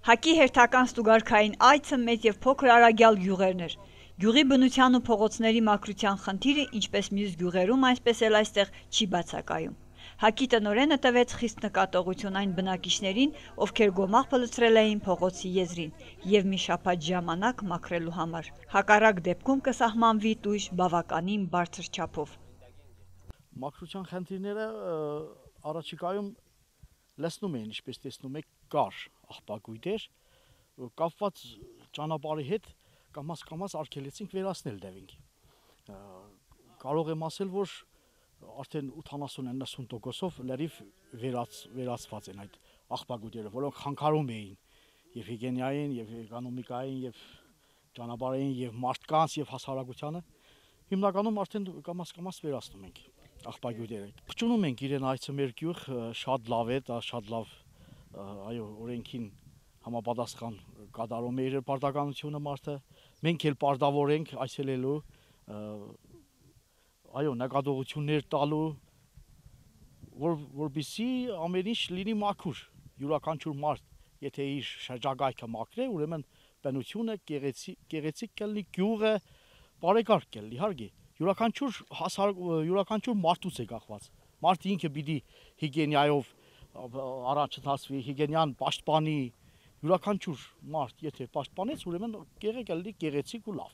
Հակի հերթական ստուգարքային այցը մեծ եւ փոքր Արագյալ գյուղերն էր։ Գյուղի բնության ու փողոցների մաքրության խնդիրը, ինչպես մյուս գյուղերում, այնպես էլ այստեղ չի բացակայում։ Հակի տնօրենը տվեց խիստ նկատողություն այն բնակիչներին, ովքեր գոմաղ լցրել էին փողոցի եզրին եւ մի շաբաթ ժամանակ մաքրելու համար։ Հակառակ դեպքում կսահմանվի տույժ բավականին բարձր չափով։ Մաքրության խնդիրները առաջիկայում լցնում էին, ինչպես տեսնում եք, կար աղբակույտեր, կապված ճանապարհի հետ կամաց արգելեցինք վերացնել դեպինք։ Կարող եմ ասել, որ արդեն 80-90%-ով լրիվ վերացված են այդ աղբակույտերը, որոնք խանգարում էին եւ հիգիենային, եւ էկոնոմիկային, եւ ճանապարհային, եւ մարդկանց, եւ հասարակությանը։ Հիմնականում արդեն կամաց վերացնում ենք աղբակույտերը։ Փչունում ենք իրեն այցը մեր գյուղ, շատ լավ է, դա շատ լավ, այո, օրենքին համապատասխան կատարում է իր պարտականությունը մարդը, մենք էլ պարտավոր ենք այցելելու, այո, նկատողություններ տալու, որպեսզի ամեն ինչ լինի մաքուր, յուրաքանչյուր մարդ, եթե իր շրջակայքը մաքրե, ուրեմն բնությունը գեղեցիկ կլինի, գյուղը բարեկարգ կլինի, իհարկե, յուրաքանչյուր մարդուց է կախված, մարդը ինքը պիտի հիգիենայով առաջընթացվի, հիգիենան պաշտպանի, յուրաքանչյուր մարդ, եթե պաշտպանեց, ուրեմն գեղեցիկ ու լավ։